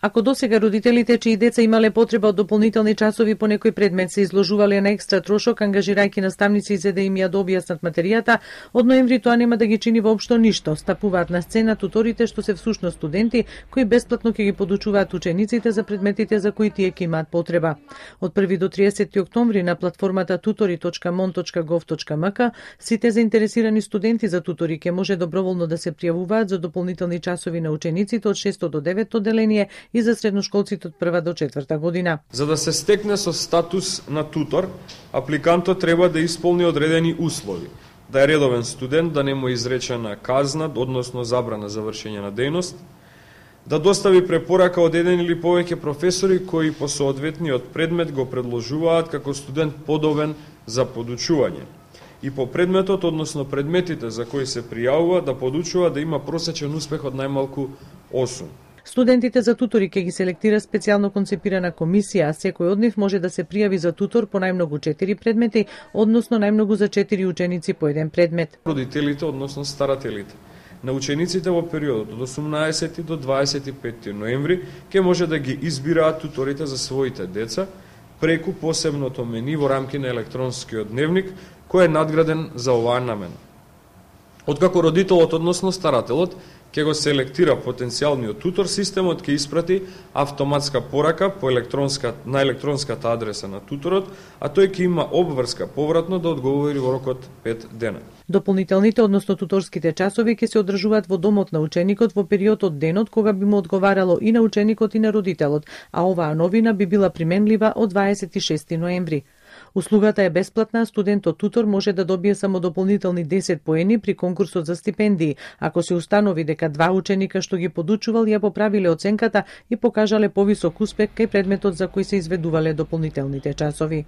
Ако досега родителите чии деца имале потреба од дополнителни часови по некој предмет се изложувале на екстра трошок, ангажирајќи наставници за да им ја објаснат материјата, од ноември тоа нема да ги чини воопшто ништо. Стапуваат на сцена туторите што се всушност студенти кои бесплатно ќе ги подучуваат учениците за предметите за кои тие ќе имаат потреба. Од 1 до 30 октомври на платформата tutori.mon.gov.mk сите заинтересирани студенти за тутори ќе може доброволно да се пријавуваат за дополнителни часови на учениците од 6 до 9 одделение и за средношколците од 1 до 4 година. За да се стекне со статус на тутор, апликантот треба да исполни одредени услови: да е редовен студент, да не му е изречена казна, односно забрана за вршење на дејност, да достави препорака од еден или повеќе професори кои по соодветниот предмет го предложуваат како студент подобен за подучување, и по предметот, односно предметите за кои се пријавува, да подучува да има просечен успех од најмалку 8. Студентите за тутори ќе ги селектира специјално концепирана комисија, а секој од нив може да се пријави за тутор по најмногу 4 предмети, односно најмногу за 4 ученици по еден предмет. Родителите, односно старателите на учениците во периодот од 18 до 25 ноември ќе може да ги избираат туторите за своите деца преку посебното мени во рамки на електронскиот дневник, кој е надграден за оваа намена. Откако родителот, односно старателот, ќе го селектира потенцијалниот тутор, системот ќе испрати автоматска порака на електронската адреса на туторот, а тој ќе има обврска повратно да одговори во рок од 5 дена. Дополнителните, односно туторските часови ќе се одржуваат во домот на ученикот во период од денот кога би му одговарало и на ученикот и на родителот, а оваа новина би била применлива од 26 ноември. Услугата е бесплатна, студентот тутор може да добие само дополнителни 10 поени при конкурсот за стипендии, ако се установи дека 2 ученика што ги подучувал ја поправиле оценката и покажале повисок успех кај предметот за кој се изведувале дополнителните часови.